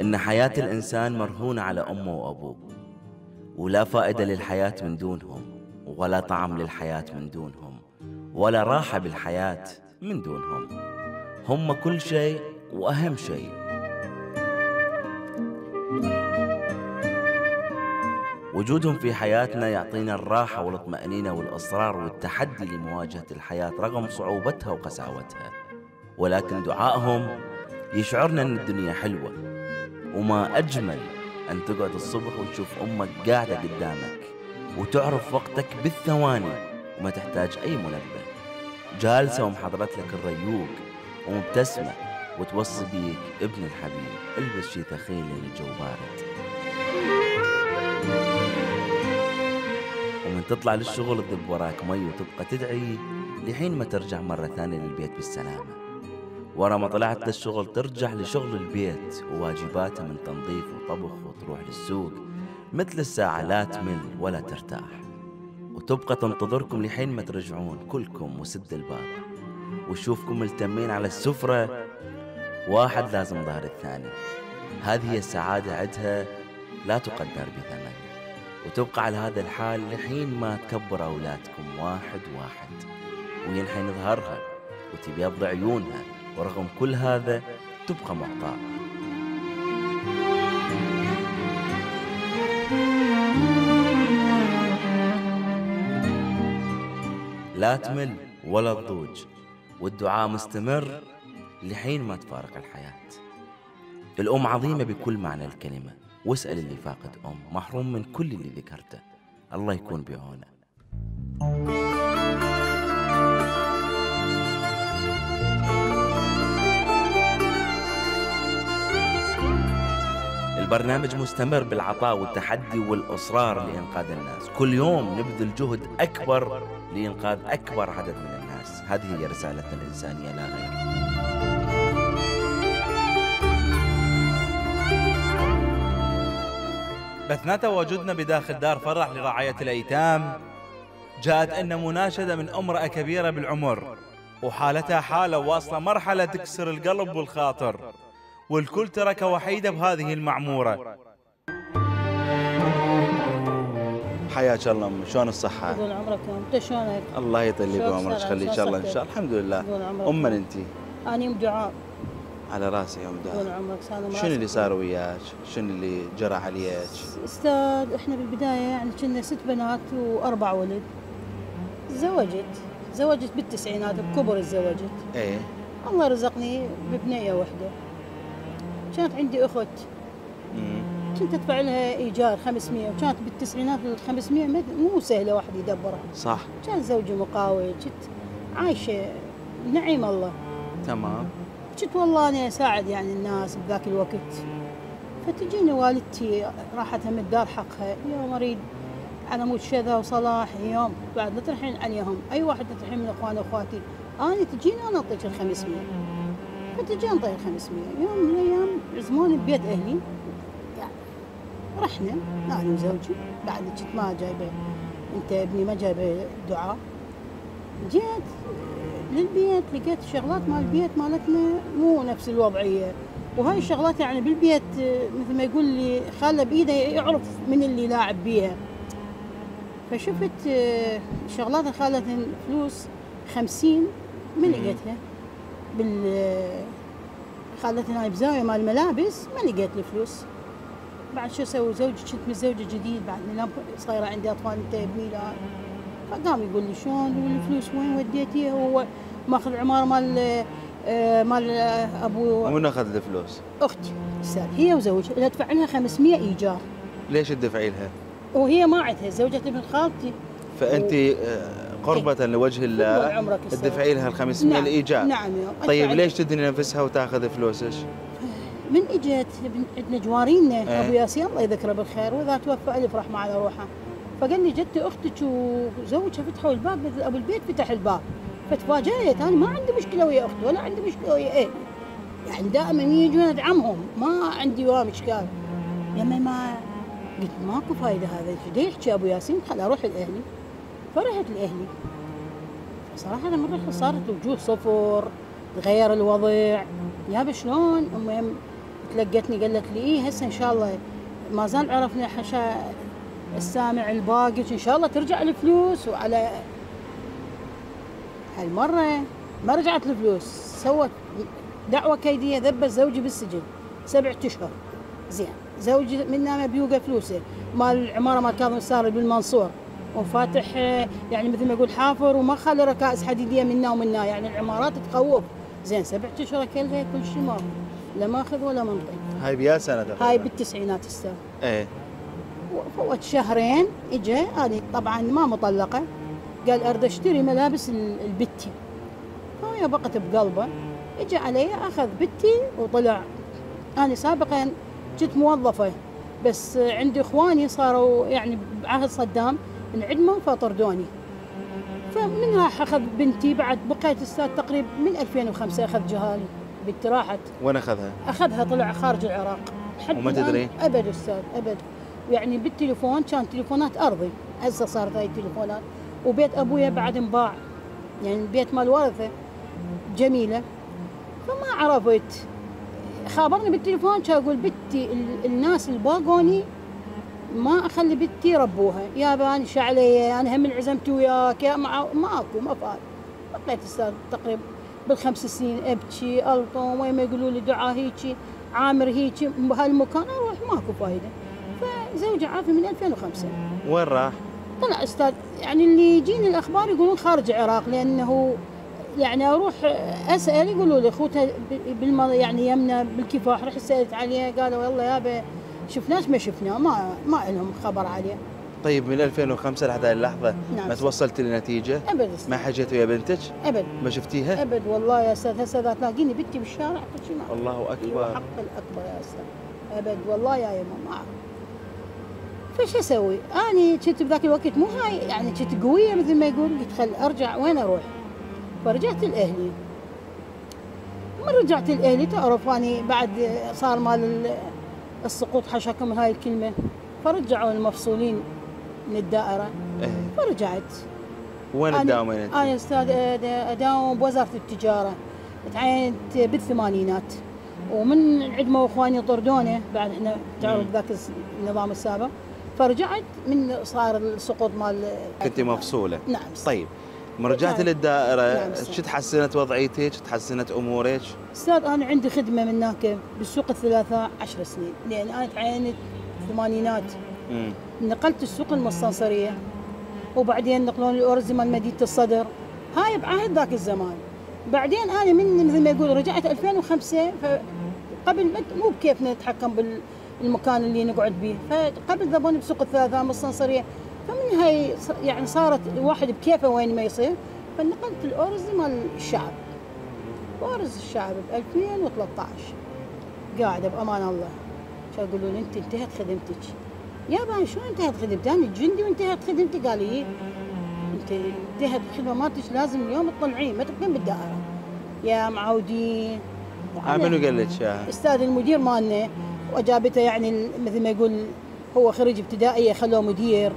إن حياة الإنسان مرهونة على أمه وأبوه، ولا فائدة للحياة من دونهم، ولا طعم للحياة من دونهم، ولا راحة بالحياة من دونهم. هم كل شيء وأهم شيء. وجودهم في حياتنا يعطينا الراحة والاطمئنينة والإصرار والتحدي لمواجهة الحياة رغم صعوبتها وقساوتها. ولكن دعائهم يشعرنا أن الدنيا حلوة، وما أجمل أن تقعد الصبح وتشوف أمك قاعدة قدامك وتعرف وقتك بالثواني وما تحتاج أي منبه، جالسة ومحضرت لك الريوق ومبتسمة وتوصي بيك ابن الحبيب البس شي ثخين لأن الجو بارد. ومن تطلع للشغل تذب وراك مي وتبقى تدعي لحين ما ترجع مرة ثانية للبيت بالسلامة. ورا ما طلعت للشغل ترجع لشغل البيت وواجباتها من تنظيف وطبخ وتروح للسوق مثل الساعة لا تمل ولا ترتاح، وتبقى تنتظركم لحين ما ترجعون كلكم وسد الباب وشوفكم ملتمين على السفرة، واحد لازم ظهر الثاني. هذه هي السعادة عدها لا تقدر بثمن، وتبقى على هذا الحال لحين ما تكبر أولادكم واحد واحد وينحين ظهرها وتبيض عيونها، ورغم كل هذا تبقى معطاء. لا تمل ولا تضوج، والدعاء مستمر لحين ما تفارق الحياة. الأم عظيمة بكل معنى الكلمة، واسأل اللي فاقد أم محروم من كل اللي ذكرته. الله يكون بعونه. البرنامج مستمر بالعطاء والتحدي والإصرار لإنقاذ الناس، كل يوم نبذل جهد أكبر لإنقاذ أكبر عدد من الناس. هذه هي رسالتنا الإنسانية لا غير. بثنا تواجدنا بداخل دار فرح لرعاية الأيتام جاءت إن مناشدة من امرأة كبيرة بالعمر، وحالتها حالة واصلة مرحلة تكسر القلب والخاطر، والكل تركها وحيدة بهذه المعمورة. حياك الله أم، شلون الصحة؟ طول عمرك انت شلونك؟ الله يطول لي بعمرك يخليك ان شاء الله. ان شاء الله الحمد لله. أم من انت؟ أنا أم دعاء. على راسي يا أم دعاء. طول عمرك سالم. شنو اللي صار وياك؟ شنو اللي جرى عليك؟ أستاذ احنا بالبداية يعني كنا 6 بنات و4 ولد. زوجت بالتسعينات بكبر تزوجت. ايه. الله رزقني ببنية واحدة. كانت عندي أخت. كنت أدفع لها إيجار 500، وكانت بالتسعينات ال 500 مو سهلة واحد يدبرها. صح. كان زوجي مقاول، كنت عايشة نعيم الله. تمام. كنت والله أنا أساعد يعني الناس بذاك الوقت. فتجيني والدتي راحت من الدار حقها، يوم أريد على مود شذا وصلاح، يوم بعد نطرحين عليهم أي واحد نطرحين من إخواني وأخواتي، أنا تجيني أنا أعطيك ال 500. فتجي أنطي ال 500. يوم من الأيام عزموني ببيت أهلي، يعني رحنا أنا وزوجي، بعد كنت ما جايبة أنت ابني ما جايبة دعاء. جيت للبيت لقيت شغلات مال البيت مالتنا مو نفس الوضعية، وهاي الشغلات يعني بالبيت مثل ما يقول لي خاله بإيده يعرف من اللي لاعب بيها. فشفت شغلات خالتها فلوس 50 ما لقيتها خالتنا هاي بزاوية مال الملابس، ما لقيت الفلوس. بعد شو اسوي؟ زوجي كنت متزوجة جديد، بعد ما صايرة عندي أطفال انت ابني لا. فقام يقول لي شلون والفلوس وين وديتيها؟ هو ماخذ عمارة مال ابو. منو اخذ الفلوس؟ اختي استاذ، هي وزوجها ادفع لها 500 ايجار. ليش تدفعي لها؟ وهي ما عندها، زوجة ابن خالتي. فانت قربة لوجه الله تدفعي لها ال 500 نعم. الايجار. نعم. طيب ليش تدني نفسها وتاخذ فلوسك؟ من اجت عندنا جوارينا ابو ياسين الله يذكره بالخير، واذا توفى الف رحمه على روحه. فقال لي جدتي اختك وزوجها فتحوا الباب، ابو البيت فتح الباب. فتفاجأت انا ما عندي مشكله ويا اختي ولا عندي مشكله ويا ايه، يعني دائما يجون ادعمهم، ما عندي ولا اشكال. لما ما قلت ماكو فايده هذا، ايش يحكي ابو ياسين؟ خل اروح لاهلي. فرحت لاهلي. صراحه لما رحت صارت الوجوه صفر، تغير الوضع. يابا شلون؟ المهم تلقتني قالت لي ايه هسه ان شاء الله ما زال عرفنا حشا السامع الباقي ان شاء الله ترجع الفلوس. وعلى هالمره ما رجعت الفلوس، سوت دعوه كيديه، ذبت زوجي بالسجن 7 أشهر. زين زوجي منا ما بيوقف فلوسه، مال العماره مال كاظم الساري بالمنصور، وفاتح يعني مثل ما يقول حافر وما خلي ركائز حديديه منا ومنا، يعني العمارات تخوف. زين 7 أشهر كلها كل شيء ماكو، لا ماخذ ولا منطي. هاي بيا سنه تقريبا؟ هاي بالتسعينات استاذ. ايه. فوت شهرين اجى، انا طبعا ما مطلقه، قال اريد اشتري ملابس البتي. فهي بقت بقلبه، اجى علي اخذ بتي وطلع. انا سابقا كنت موظفه، بس عندي اخواني صاروا يعني بعهد صدام انعدموا فطردوني. فمن راح اخذ بنتي، بعد بقيت استاذ تقريبا من 2005 اخذ جهالي. بنتي راحت. وين اخذها؟ اخذها طلع خارج العراق. وما تدري؟ ابد استاذ ابد. يعني بالتليفون كان تليفونات ارضي، هسه صارت هاي التليفونات. وبيت ابويا بعد انباع، يعني بيت مال ورثه جميله. فما عرفت، خابرني بالتليفون كان يقول بنتي الناس اللي باقوني ما اخلي بنتي يربوها. يابا انا علي، انا هم عزمت وياك يا ماكو ما فات. بقيت استاذ تقريبا بال5 سنين ابكي الطم، وين ما يقولوا لي دعاء هيجي عامر هيجي بهالمكان اروح ماكو فايده. فزوجي عافي من 2005. وين راح؟ طلع استاذ يعني اللي يجيني الاخبار يقولون خارج العراق، لانه يعني اروح اسال يقولوا لي اخوتها يعني يمنا بالكفاح. رحت سالت عليه قالوا والله يابا شفناش ما شفناه، ما لهم خبر عليه. طيب من 2005 لحد هذه اللحظه نعم ما توصلت لنتيجه؟ ابد. ما حكيت ويا بنتك؟ ابد. ما شفتيها؟ ابد والله يا استاذ. هسه اذا تلاقيني بنتي بالشارع كل شيء معك. الله اكبر. حق الاكبر يا استاذ. ابد والله يا يما ما اعرف. فش اسوي؟ اني كنت بذاك الوقت مو هاي يعني كنت قويه مثل ما يقول. قلت خل ارجع، وين اروح؟ فرجعت لاهلي. من رجعت لاهلي تعرف اني بعد صار مال السقوط حشاكم من هاي الكلمه، فرجعوا المفصولين من الدائره. إيه. فرجعت. وين تداومين انت؟ انا استاذ اداوم بوزاره التجاره، تعينت بالثمانينات، ومن عندما اخواني طردوني بعد احنا تعرف ذاك النظام السابق، فرجعت من صار السقوط مال. كنت مفصوله؟ نعم. طيب من رجعت للدائره نعم. شو تحسنت وضعيتك؟ تحسنت امورك؟ استاذ انا عندي خدمه من هناك بالسوق الثلاثاء 10 سنين، لان انا تعينت الثمانينات. نقلت السوق المستنصريه، وبعدين نقلون الارز مال مدينه الصدر، هاي بعهد ذاك الزمان. بعدين انا من مثل ما يقول رجعت 2005. فقبل مو بكيفنا نتحكم بالمكان اللي نقعد به، فقبل ذبوني بسوق الثلاثاء المستنصريه. فمن هاي يعني صارت الواحد بكيفه وين ما يصير. فنقلت الارز مال الشعب، وارز الشعب ب 2013 قاعده بامان الله. شو يقولوا لي انت انتهت خدمتك. يابا شو انتهت خدمتي؟ انا جندي وانتهت خدمتي. قال لي انت انتهت الخدمه مالتك، لازم اليوم تطلعين ما تبقين بالدائره يا معودين. منو قال لك اياها؟ استاذ المدير مالنا، واجابته يعني مثل ما يقول هو خريج ابتدائيه خلوه مدير.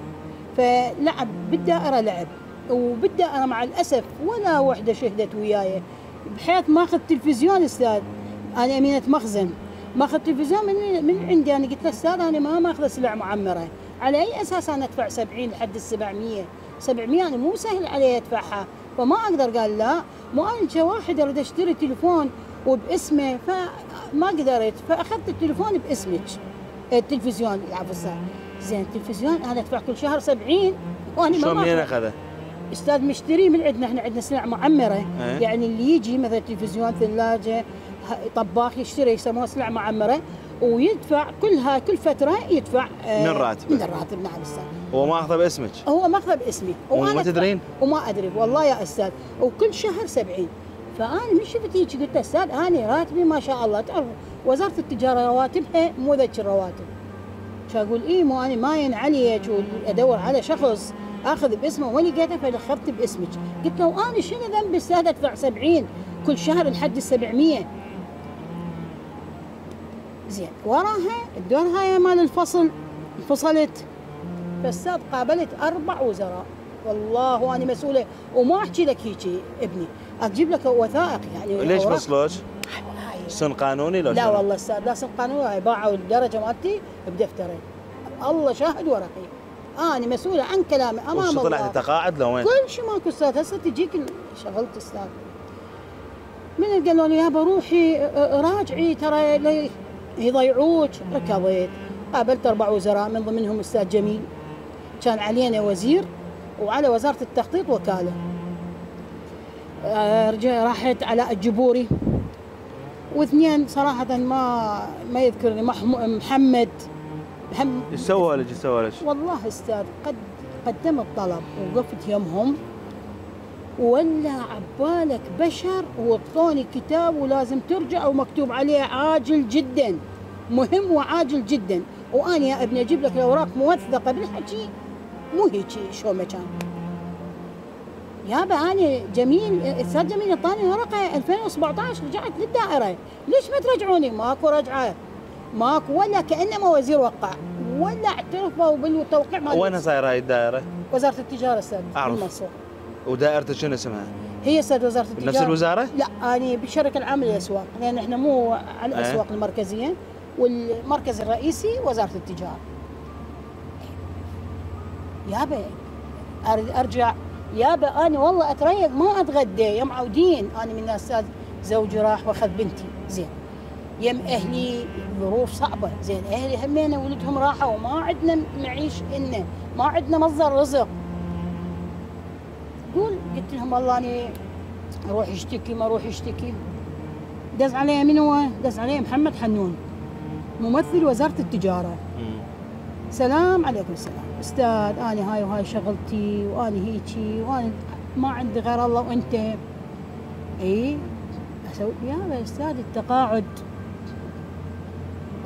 فلعب بالدائره لعب، وبالدائره مع الاسف ولا وحده شهدت وياي، بحيث ماخذ تلفزيون استاذ. انا امينه مخزن، ماخذ تلفزيون من عندي. انا قلت له استاذ انا ما ماخذ سلع معمره، على اي اساس انا ادفع 70 لحد ال 700 انا مو سهل علي ادفعها، فما اقدر. قال لا مو انا كواحد اريد اشتري تليفون وباسمه، فما قدرت. فاخذت التليفون باسمك، التلفزيون العفو استاذ. زين التلفزيون انا ادفع كل شهر 70 وانا ما. شو منين اخذه؟ استاذ مشتري من عندنا، احنا عندنا سلع معمره. يعني اللي يجي مثلا تلفزيون ثلاجه طباخ يشتري يسموها سلع معمره، ويدفع كل فتره يدفع من راتبه. من الراتب. نعم استاذ. هو ما اخذه باسمك؟ هو ماخذه باسمي. وما تدرين؟ وما ادري والله يا استاذ. وكل شهر 70. فانا من شفت هيك قلت استاذ انا راتبي ما شاء الله، تعرف وزاره التجاره رواتبها مو ذيك الرواتب. شو اقول ايه مو انا ماين عليك وادور على شخص اخذ باسمه ولقيته فاخذت باسمك. قلت له انا شنو ذنبي استاذ ادفع 70 كل شهر لحد ال 700. زين وراها الدور هاي مال الفصل انفصلت. فاستاذ قابلت 4 وزراء، والله وانا مسؤوله، وما احكي لك هيك ابني، اجيب لك وثائق يعني. ليش فصلوك؟ سن قانوني لو لا والله استاذ لا سن قانوني، باعوا الدرجه مالتي بدفترين، الله شاهد ورقيب، انا مسؤوله عن كلامي امام الله. طلعت تقاعد لو وين؟ كل شيء ماكو استاذ، هسه تجيك شغلت استاذ. من قالوا لي يابا روحي راجعي ترى يضيعوك. ركضت قابلت 4 وزراء من ضمنهم استاذ جميل، كان علينا وزير وعلى وزاره التخطيط وكاله. راحت علاء الجبوري، واثنين صراحه ما يذكرني، محمد ايش سوى لك؟ والله استاذ قدمت طلب وقفت يمهم، ولا عبالك بشر، وعطوني كتاب ولازم ترجع ومكتوب عليه عاجل جدا، مهم وعاجل جدا. وانا يا ابني اجيب لك الاوراق موثقه بالحكي، مو هيك شو ما كان. يابا انا جميل، استاذ جميل اعطاني ورقه 2017 رجعت للدائره، ليش ما ترجعوني؟ ماكو رجعه، ماكو، ولا كانما وزير وقع، ولا اعترفوا بالتوقيع مال. وين صايره هاي الدائره؟ وزاره التجاره استاذ المنصور. ودائرته شنو اسمها؟ هي استاذ وزاره التجاره. نفس الوزاره؟ لا انا بالشركه العامه للاسواق، لان احنا مو على الاسواق المركزيه، والمركز الرئيسي وزاره التجاره. يابا ارجع، يابا انا والله اتريق ما اتغدى، يوم عودين انا من استاذ زوجي راح واخذ بنتي، زين يم اهلي ظروف صعبه، زين اهلي همينا ولدهم راحوا وما عندنا معيش، إنه ما عندنا مصدر رزق. قلت لهم والله اني اروح اشتكي ما اروح اشتكي. دز علي من هو؟ دز علي محمد حنون ممثل وزاره التجاره. سلام عليكم السلام استاذ، انا هاي وهاي شغلتي وانا هيجي وانا ما عندي غير الله وانت. اي اسوي يا استاذ التقاعد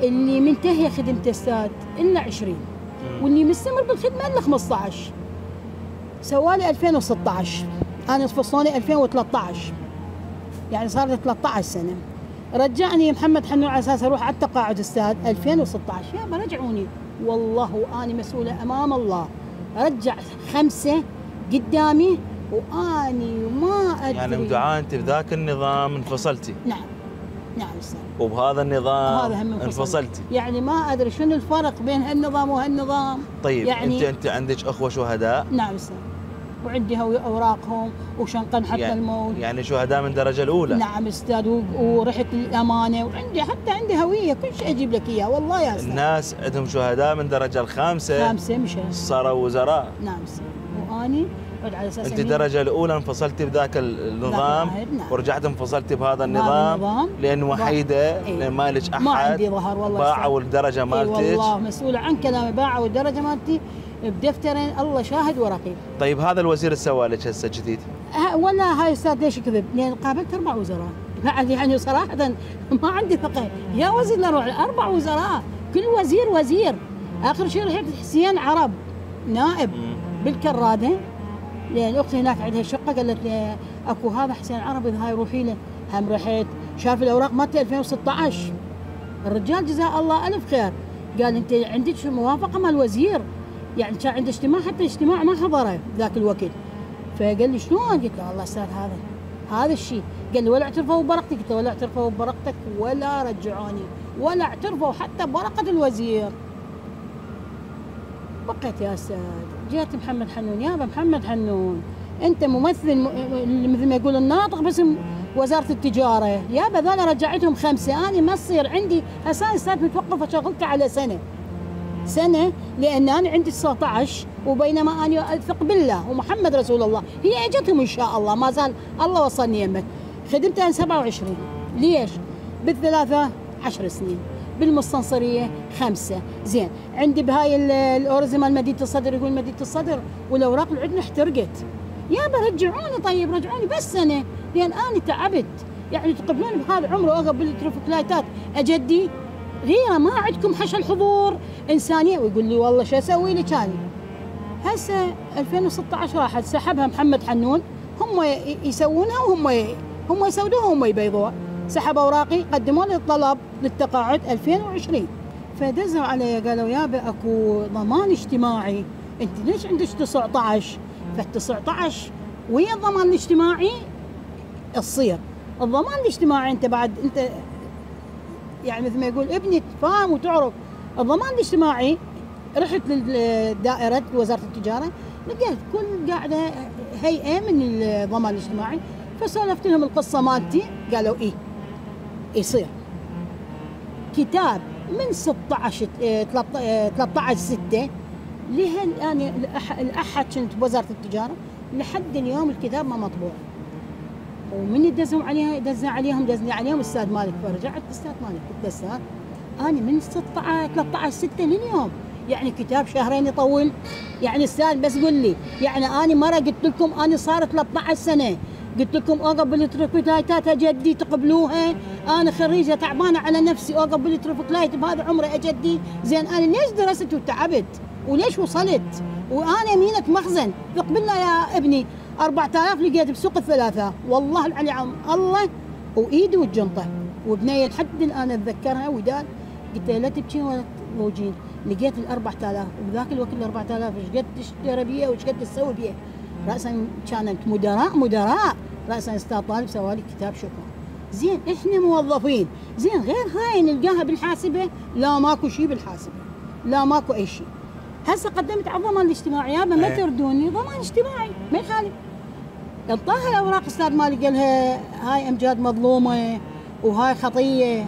اللي منتهيه خدمته استاذ الا 20، واللي مستمر بالخدمه الا 15. سوالي 2016، انا فصلوني 2013، يعني صار لي 13 سنه. رجعني محمد حنون على اساس اروح على التقاعد استاذ 2016. يابا رجعوني، والله واني مسؤوله امام الله، رجع 5 قدامي واني ما ادري. يعني مدعاة انت بذاك النظام انفصلتي؟ نعم استاذ. وبهذا النظام انفصلتي؟ يعني ما ادري شنو الفرق بين هالنظام وهالنظام. طيب يعني انت عندك اخوه شهداء؟ نعم استاذ، وعندي اوراقهم وشنقن حتى يعني الموت. يعني شهداء من الدرجه الاولى؟ نعم استاذ، ورحت الامانه، وعندي حتى عندي هويه، كل شيء اجيب لك اياه والله يا استاذ. الناس عندهم شهداء من الدرجه الخامسه مشى صاروا وزراء. نعم استاذ، واني على اساس انت الدرجه الاولى انفصلتي بذاك النظام. نعم. ورجعت انفصلتي بهذا النظام لان وحيده، لان ما لك احد، ما عندي ظهر والله. باعوا الدرجه مالتك. والله مسؤوله عن كلامي، باعوا الدرجه مالتي بدفترين، الله شاهد ورقيب. طيب هذا الوزير ايش سوى لك هسه جديد؟ ولا هاي استاذ ليش كذب؟ لان قابلت 4 وزراء، بعد يعني صراحه ما عندي ثقه يا وزير نروح 4 وزراء، كل وزير. اخر شيء رحت حسين عرب نائب بالكراده، لان اختي هناك عندها شقه، قالت لي اكو هذا حسين عرب اذا هاي روحي له. هم رحت شاف الاوراق مالتي 2016. الرجال جزاه الله الف خير، قال انت عندك موافقه مال الوزير، يعني كان عنده اجتماع، حتى اجتماع ما حضره ذاك الوقت. فقال لي شلون؟ قلت له والله استاذ هذا الشيء. قال لي ولا اعترفوا بورقتي؟ قلت له ولا اعترفوا بورقتك ولا رجعوني ولا اعترفوا حتى بورقه الوزير. بقيت يا استاذ، جيت محمد حنون. يابا محمد حنون انت ممثل مثل ما يقول الناطق باسم وزاره التجاره. يابا ذولا رجعتهم 5، انا ما تصير عندي هسه استاذ متوقفه شغلتي على سنه لان انا عندي 19، وبينما انا اثق بالله ومحمد رسول الله، هي اجتهم ان شاء الله، ما زال الله وصلني يمك. خدمت انا 27، ليش؟ بالثلاثه 10 سنين، بالمستنصريه 5. زين عندي بهاي الاورز مال مدينه الصدر، يقول مدينه الصدر والاوراق اللي عندنا احترقت. يابا رجعوني، طيب رجعوني بس سنه، لان انا تعبت. يعني تقبلوني بهذا العمر واقف بالترفكلايتات اجدي غيره، ما عندكم حشى الحضور انسانيه. ويقول لي والله شو اسوي لك هذه؟ هسه 2016 راحت سحبها محمد حنون، هم يسوونها وهم يسودوها وهم يبيضوها. سحب اوراقي، قدموا لي الطلب للتقاعد 2020، فدزوا علي قالوا يابا اكو ضمان اجتماعي، انت ليش عندك 19 فال19 ويا الضمان الاجتماعي تصير الضمان الاجتماعي انت بعد انت يعني مثل ما يقول ابني تفهم وتعرف الضمان الاجتماعي. رحت للدائرة وزارة التجارة لقيت كل قاعدة هيئة من الضمان الاجتماعي، فسولفت لهم القصة مالتي قالوا ايه يصير. كتاب من 16 13/6 لها الان الاحد كنت بوزارة التجارة لحد اليوم الكتاب ما مطبوع. ومن دزوا عليها دزنا عليهم الاستاذ مالك، فرجعت الاستاذ مالك قلت له استاذ انا من 13/6 لليوم يعني كتاب شهرين يطول يعني استاذ بس قل لي يعني انا مره قلت لكم انا صار 13 سنه قلت لكم اقبل ترفكلايتات جدي تقبلوها، انا خريجه تعبانه على نفسي اقبل ترفكلايت بهذا عمري اجدي، زين انا ليش درست وتعبت وليش وصلت وانا مينة مخزن تقبلنا يا ابني 4000 لقيت بسوق الثلاثه والله العلي عم الله وايدي والجنطه وبنيه لحد الان اتذكرها وداد قلت له لا تبكي ولا تضوجين، لقيت ال 4000 وبذاك الوقت ال 4000 ايش قد تشتري بيه وايش قد تسوي بيه؟ راسا كانت مدراء راسا استاذ طالب سوالي كتاب شكر. زين احنا موظفين، زين غير هاي نلقاها بالحاسبه لا ماكو شيء بالحاسبه، لا ماكو اي شيء. هسه قدمت على الضمان الاجتماعي يابا ما تردوني ضمان اجتماعي ما يخالف. انطاها الاوراق استاذ مالي قالها هاي امجاد مظلومه وهاي خطيه.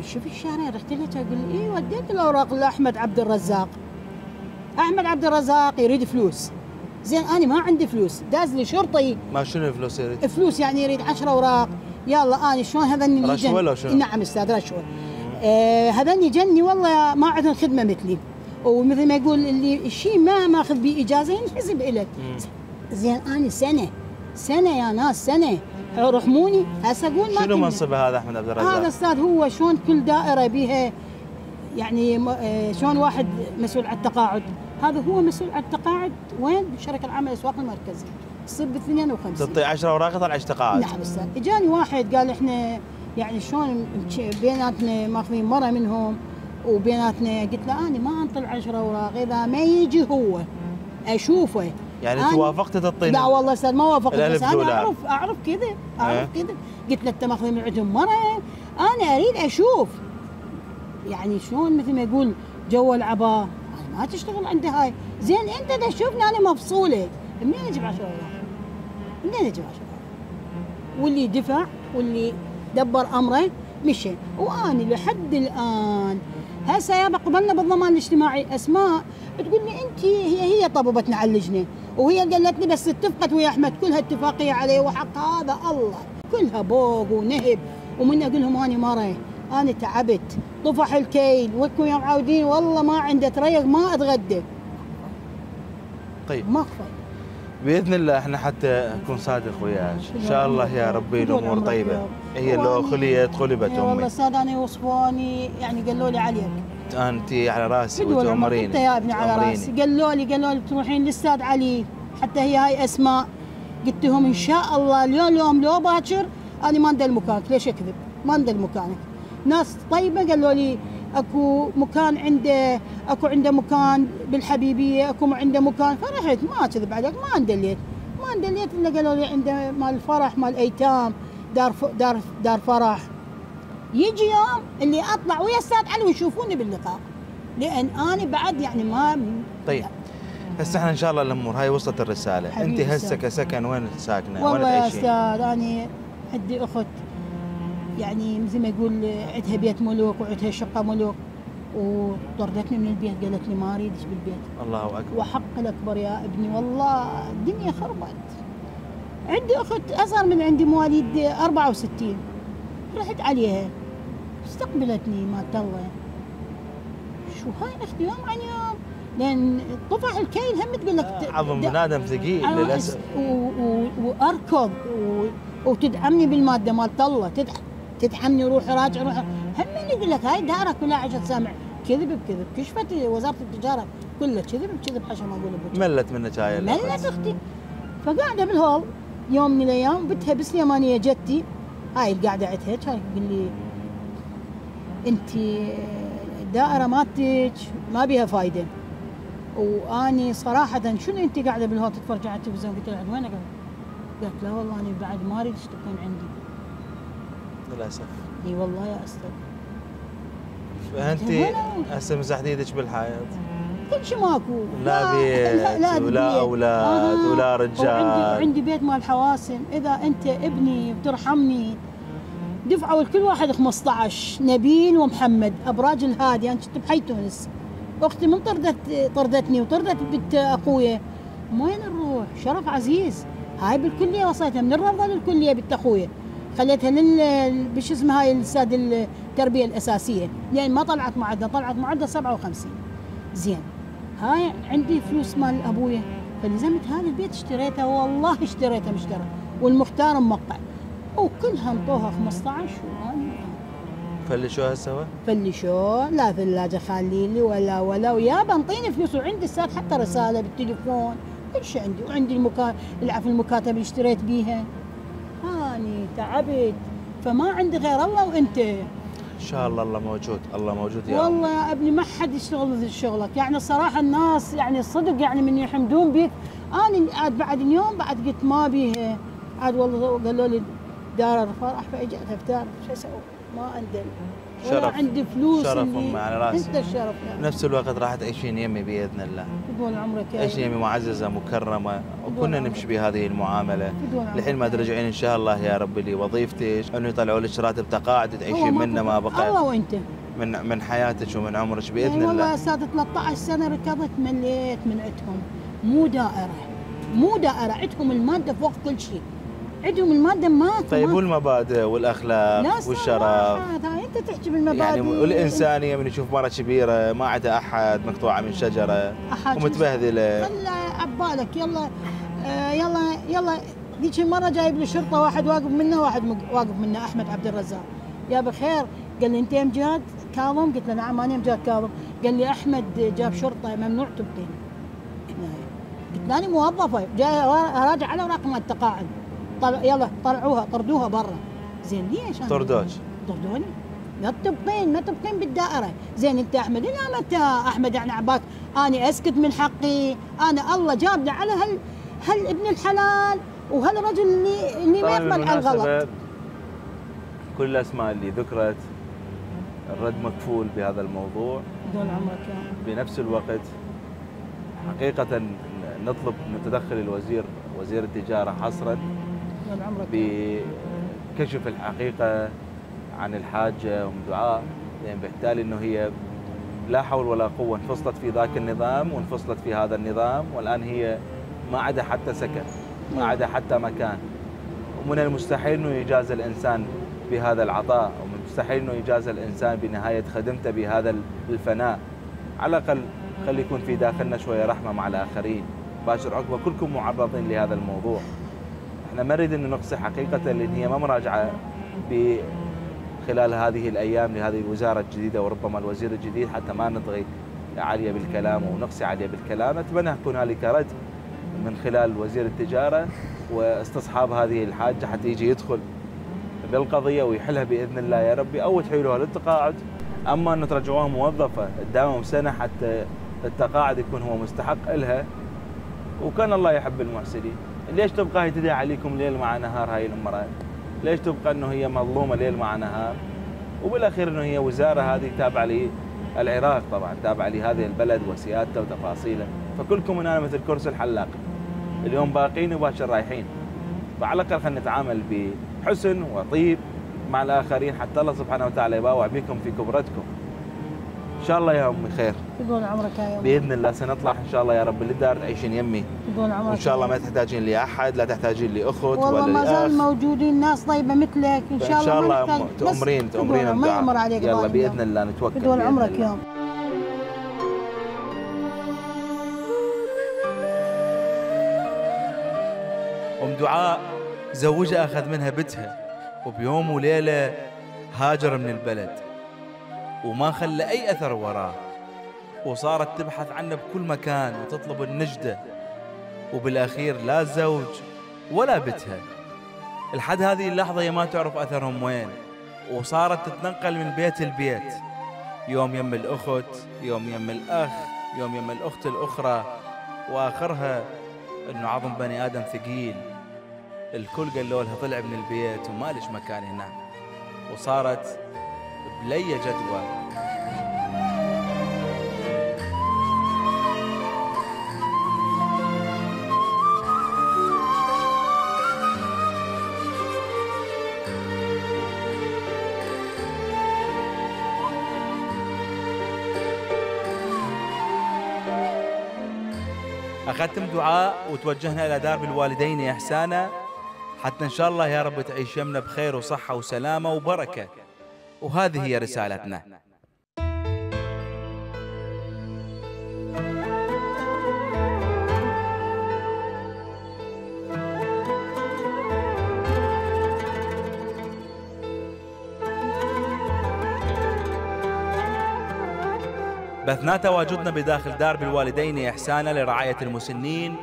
شوف الشارع رحت له اقول اي وديت الاوراق لاحمد عبد الرزاق. احمد عبد الرزاق يريد فلوس، زين انا ما عندي فلوس، داز لي شرطي. ما شنو الفلوس يريد؟ فلوس يعني يريد 10 اوراق، يلا انا شلون هذني رشوه ولا شنو؟ نعم استاذ رشوه. هذني جني والله ما عندهم خدمه مثلي، ومثل ما يقول اللي الشيء ما ماخذ به اجازه ينحسب الك. زين انا سنه يا ناس سنه رحموني. هسه اقول ما شنو منصبه هذا احمد عبد الرزاق؟ هذا استاذ هو شلون كل دائره بها يعني شلون واحد مسؤول على التقاعد، هذا هو مسؤول على التقاعد وين؟ بالشركه العامه للاسواق المركزيه، تصير ب 52. تعطي 10 اوراق يطلع تقاعد. نعم استاذ. اجاني واحد قال احنا يعني شلون بيناتنا ماخذين مره منهم وبيناتنا، قلت له انا ما انطي 10 اوراق اذا ما يجي هو اشوفه. يعني انت وافقت تعطيني؟ لا والله استاذ ما وافقت، بس انا اعرف كذا كذا. قلت له انت ماخذين من عندهم مره انا اريد اشوف يعني شلون مثل ما يقول جو العباء، انا ما تشتغل عندي هاي. زين انت اذا تشوفني انا مفصوله منين اجيب 10 اوراق؟ منين اجيب 10 اوراق؟ واللي دفع واللي دبر امره مشي، وانا لحد الان هسه يابا قبلنا بالضمان الاجتماعي اسماء تقول لي انت هي طببتنا على اللجنه وهي قالت لي بس اتفقت ويا احمد كلها اتفاقيه عليه وحق هذا الله كلها بوق ونهب، ومن اقول لهم انا مره انا تعبت طفح الكيل وكم يوم عاودين والله ما عندي تريق ما اتغدى. طيب ما كفى باذن الله احنا حتى نكون صادق وياك ان شاء الله يا ربي الامور طيبه. هي لو خليت خلبت امي. والله استاذ انا وصفوني يعني قالوا لي عليك انت على راسي وتؤمريني. انت يا ابني على راسي. قالوا لي تروحين للاستاذ علي حتى هي هاي اسماء. قلت لهم ان شاء الله اليوم لو باكر انا ما ندل مكانك. ليش اكذب؟ ما ندل مكانك. ناس طيبه قالوا لي اكو مكان عنده مكان بالحبيبيه، اكو عنده مكان، فرحت ما اكذب عليك ما اندليت الا قالوا لي عنده مال فرح مال ايتام دار فرح. يجي يوم اللي اطلع ويا استاذ علي ويشوفوني باللقاء لان انا بعد يعني ما. طيب هسه احنا ان شاء الله الامور هاي وصلت الرساله. انت هسه كسكن وين ساكنه؟ والله يا استاذ انا عندي اخت يعني مثل ما يقول عندها بيت ملوك وعندها شقه ملوك وطردتني من البيت قالت لي ما اريدش بالبيت. الله اكبر. وحق الاكبر يا ابني والله الدنيا خربت. عندي اخت اصغر من عندي مواليد 64 رحت عليها استقبلتني مالت الله. شو هاي اختي يوم عن يوم لان طفح الكيل هم تقول لك عظم بني ادم ثقيل للاسف. واركض وتدعمني بالماده مالت الله تدعمني روحي راجع روحي هم يقول لك هاي دارك كلها عشان سامع كذب بكذب. كشفت وزاره التجاره كلها كذب بكذب حشا ما اقول بك. ملت منك هاي ملت اختي. فقاعده بالهول يوم من الايام بنتها بالسليمانيه جدتي هاي القاعده عندها كانت تقول لي انت الدائرة مالتك ما بيها فايدة. واني صراحة شنو انت قاعدة بالهوت تتفرج على التلفزيون؟ قلت لها وين قالت لا والله انا بعد ما اريد تكون عندي. للاسف. اي والله يا استاذ. فانت هسه مزحت ايدك بالحياه. كل شيء ماكو، لا بيت ولا اولاد ولا رجال. وعندي بيت مال حواسم، اذا انت ابني وترحمني دفعوا لكل واحد 15 نبيل ومحمد ابراج الهادي. انا كنت بحي تونس، اختي من طردتني وطردت بنت اخويا. وين نروح؟ شرف عزيز. هاي بالكليه وصيتها من الروضه للكليه بنت اخويا، خليتها بش اسمها هاي الاستاذ التربيه الاساسيه، لان ما طلعت معدل، طلعت معدل 57. زين هاي عندي فلوس مال ابويا، فلزمت هذا البيت اشتريته، والله اشتريته مشترى، والمختار موقع، وكلها انطوها 15. فلشوها سوا؟ فلشوها، لا ثلاجه خلي لي ولا ويابا انطيني فلوس، وعندي صار حتى رساله بالتليفون، كل شيء عندي، وعندي المكاتب اللي اشتريت بيها. هاني تعبت، فما عندي غير الله وانت. ان شاء الله الله موجود، الله موجود يا والله يا ابني ما حد يشتغل مثل شغلك، يعني الصراحه الناس يعني الصدق يعني من يحمدون بيك. انا عاد بعد اليوم بعد قلت ما بيها، عاد والله قالوا لي دار الفرح فاجت افتار، شو اسوي؟ ما عندي ولا عندي فلوس. شرف امي على راسي. انت الشرف يعني. بنفس الوقت راح تعيشين يمي باذن الله. بدون عمرك يا تعيشين يمي معززه مكرمه، وكنا نمشي بهذه المعامله لحين ما ترجعين ان شاء الله يا رب لوظيفتك، انه يطلعوا لك راتب تقاعد تعيشين منه ما بقى. الله وانت من حياتك ومن عمرك باذن الله. والله يا استاذ 13 سنه ركضت مليت من عندهم. مو دائره، عندهم الماده فوق كل شيء، عندهم الماده ما. طيب والمبادئ والاخلاق والشرف؟ انت تحكي بالمبادئ يعني والانسانيه، من يشوف مره كبيره ما عندها احد مقطوعه من شجره ومتبهدله. خلى عبالك يلا ذيك المره جايب لي شرطه، واحد واقف منه احمد عبد الرزاق. يا بخير قال لي انت يا امجاد كاظم؟ قلت له نعم انا امجاد كاظم. قال لي احمد جاب شرطه ممنوع تبقين. قلت له انا موظفه جاي اراجع على اوراق مال التقاعد. يلا طردوها برا. زين ليش؟ طردوني. ما تبقين بالدائره. زين انت احمد؟ لا متى احمد يعني عباك اني اسكت من حقي؟ انا الله جابني على ابن الحلال وهالرجل اللي ما يقبل على الغلط. كل الاسماء اللي ذكرت الرد مكفول بهذا الموضوع بدون عمرك يا. بنفس الوقت حقيقه نطلب متدخل وزير التجاره حصرا بكشف الحقيقه عن الحاجه دعاء، لان بالتالي انه هي لا حول ولا قوه انفصلت في ذاك النظام وانفصلت في هذا النظام، والان هي ما عدا حتى سكن، ما عدا حتى مكان. ومن المستحيل انه يجازى الانسان بهذا العطاء، ومن المستحيل انه يجازى الانسان بنهايه خدمته بهذا الفناء. على الاقل خلي يكون في داخلنا شويه رحمه مع الاخرين. باشر عقبه كلكم معرضين لهذا الموضوع. احنا ما نريد انه نقصي حقيقه، لان هي ما مراجعه خلال هذه الايام لهذه الوزاره الجديده وربما الوزير الجديد، حتى ما نطغي عليه بالكلام ونقصي عليه بالكلام. اتمنى يكون هنالك رد من خلال وزير التجاره واستصحاب هذه الحاجه حتى يجي يدخل بالقضيه ويحلها باذن الله يا ربي، او تحيلوها للتقاعد. اما انه ترجعوها موظفه قدامهم سنه حتى التقاعد يكون هو مستحق لها، وكان الله يحب المحسنين. ليش تبقى هي تدعي عليكم ليل مع نهار هاي المرأة؟ ليش تبقى انه هي مظلومه ليل مع نهار؟ وبالاخير انه هي وزاره هذه تابعه للعراق، طبعا تابعه لهذه البلد وسيادته وتفاصيله، فكلكم هنا مثل كرسي الحلاق، اليوم باقين وباكر رايحين. فعلى الاقل خلينا نتعامل بحسن وطيب مع الاخرين حتى الله سبحانه وتعالى يباوع بكم في كبرتكم. ان شاء الله يا امي خير. بدون عمرك يا يوم. باذن الله سنطلع ان شاء الله يا رب للدار تعيشين يمي. بدون عمرك. وان شاء الله ما تحتاجين لي احد، لا تحتاجين لي اخت ولا لي اخ. والله ما زال موجودين ناس طيبه مثلك ان شاء الله. ان شاء الله تأمرين ما يمر عليك. يلا باذن الله نتوكل. بدون عمرك يوم. ام دعاء زوجها اخذ منها بنتها، وبيوم وليله هاجر من البلد وما خلى اي اثر وراه، وصارت تبحث عنه بكل مكان وتطلب النجدة، وبالاخير لا الزوج ولا بنتها. لحد هذه اللحظة هي ما تعرف اثرهم وين، وصارت تتنقل من بيت لبيت يوم يم الأخت، يوم يم الأخ، يوم يم الأخت الأخرى، وآخرها إنه عظم بني آدم ثقيل. الكل قالوا لها طلع من البيت وما لش مكان هنا، وصارت بلي جدوى. أخذتم دعاء وتوجهنا إلى درب الوالدين إحسانا، حتى إن شاء الله يا رب تعيش يمنا بخير وصحة وسلامة وبركة. وهذه هي رسالتنا. بثنا تواجدنا بداخل درب الوالدين إحسانا لرعاية المسنين.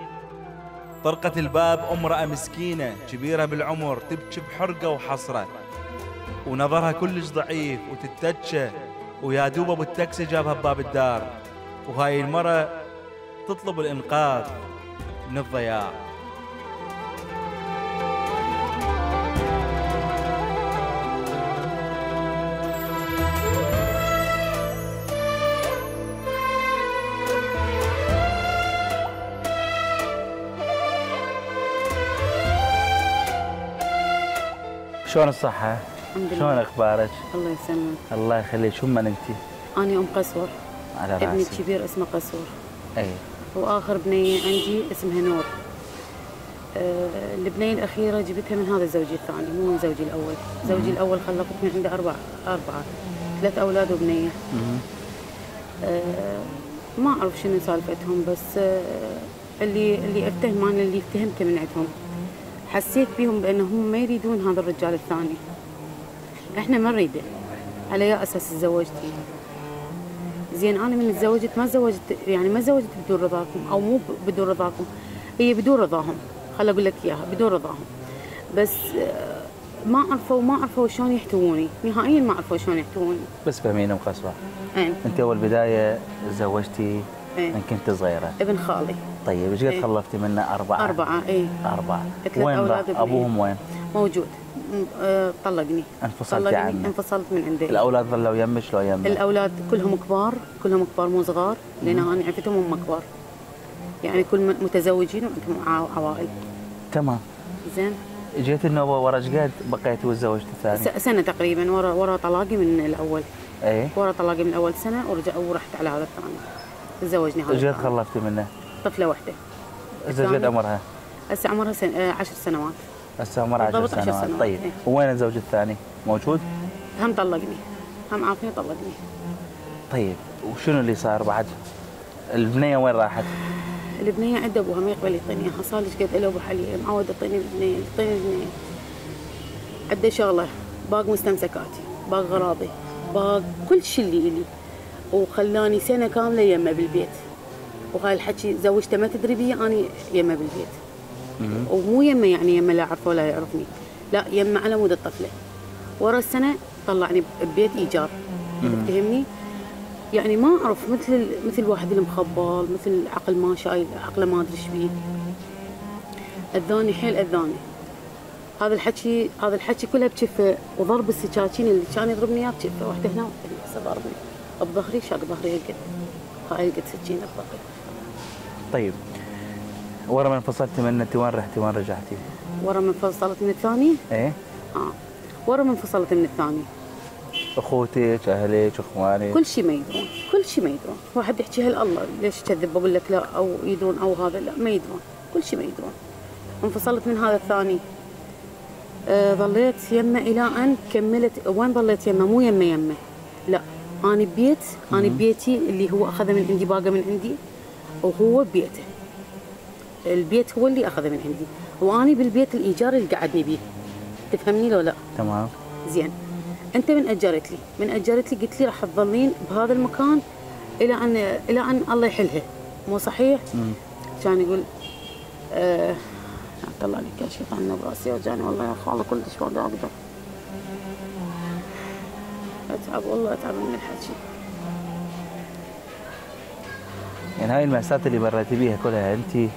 طرقت الباب امرأة مسكينة كبيرة بالعمر تبكي بحرقة وحسرة، ونظرها كلش ضعيف وتتجه، ويا دوب ابو التاكسي جابها بباب الدار. وهاي المرة تطلب الإنقاذ من الضياع. شلون الصحة؟ الحمد لله. شلون اخبارك؟ الله يسلمك. الله يخليك. شو من انت؟ أنا أم قسور. على راسي. ابني الكبير اسمه قسور. اي. وآخر بنية عندي اسمها نور. البنية الأخيرة جبتها من هذا زوجي الثاني، مو من زوجي الأول. زوجي الأول خلفت من عنده أربعة 3 أولاد وبنية. ما أعرف شنو سالفتهم، بس اللي افتهم أنا اللي افتهمته من عندهم، حسيت بيهم بأنهم ما يريدون هذا الرجال الثاني. احنا ما نريده. على أي أساس تزوجتي؟ زين أنا من تزوجت ما تزوجت بدون رضاكم، أو مو بدون رضاكم، هي بدون رضاهم. خل أقول لك إياها، بدون رضاهم. بس ما عرفوا شلون يحتووني، نهائيا ما عرفوا شلون يحتووني. بس فهميني ام قسوة، انت اول بداية تزوجتي من كنت صغيرة؟ ابن خالي. طيب ايش قد خلفتي منه؟ 4. 4 اي 4. 3 وين راح ابوهم؟ وين؟ موجود. طلقني. انفصلتي عنه؟ انفصلت من عنده. الاولاد ظلوا يمك لو يمك؟ الاولاد كلهم كبار مو صغار، لان انا عرفتهم هم كبار. يعني كل متزوجين وعندهم عوائل. تمام. زين. جيت النوبة ورا ايش قد بقيتي وتزوجتي الثاني؟ سنة تقريبا ورا طلاقي من الاول. ايه. ورا طلاقي من الاول سنة ورحت على هذا الثاني. تزوجني هذا. ايش قد خلفتي منه؟ طفلة واحدة. ايش قد عمرها؟ هسه عمرها 10 سنوات. هسه عمرها 10 سنوات. طيب إيه؟ وين الزوج الثاني؟ موجود؟ هم طلقني، هم عافني طلقني. طيب وشنو اللي صار بعد؟ البنية وين راحت؟ البنية عند ابوها ما يقبل يعطيني اياها، صار لي قد له ابو حليب معود يعطيني البنية، عنده شغله، باق مستمسكاتي، باق غراضي، باق كل شيء اللي الي، وخلاني سنة كاملة يمه بالبيت. وهاي الحكي زوجته ما تدري بي، اني يمه بالبيت. ومو يمه يعني يمه لا اعرفه ولا يعرفني، لا يمه على مود الطفله. ورا السنة طلعني ببيت ايجار. تفهمني؟ يعني ما اعرف، مثل واحد المخبل، مثل عقل ما شايل، عقله ما ادري ايش بيه. اذاني حيل اذاني. هذا الحكي كله بكفه، وضرب السكاكين اللي كان يضربني اياه بكفه، واحده هنا واحده هنا، هسه ضربني بظهري، شاق ظهري هالقد، هاي القد سكينه بظهري. طيب ورا ما انفصلتي منه انت وين رحتي وين رجعتي؟ ورا ما انفصلت من الثاني؟ ايه؟ ورا ما انفصلت من الثاني. اخوتك، اهلك، اخوانك، كل شيء ما يدرون، كل شيء ما يدرون. واحد يحكي هالله ليش كذب، بقول لك لا، او يدرون او هذا، لا ما يدرون، كل شيء ما يدرون. انفصلت من هذا الثاني. ظليت يمه الى ان كملت. وين ظليت يمه؟ مو يمه، لا، انا ببيتي اللي هو اخذه من عندي، باقه من عندي، وهو ببيته. البيت هو اللي اخذه من عندي، واني بالبيت الايجار اللي قعدني بيه. تفهمني لو لا؟ تمام. زين. انت من اجرت لي قلت لي راح تظلين بهذا المكان الى ان الله يحلها، مو صحيح؟ كان يقول طلع لي كاشف عنه براسي، وجاني والله يا خاله كلش ما اقدر اتعب، والله اتعب من الحكي. يعني هاي المأساة اللي مريتي بيها كلها انت؟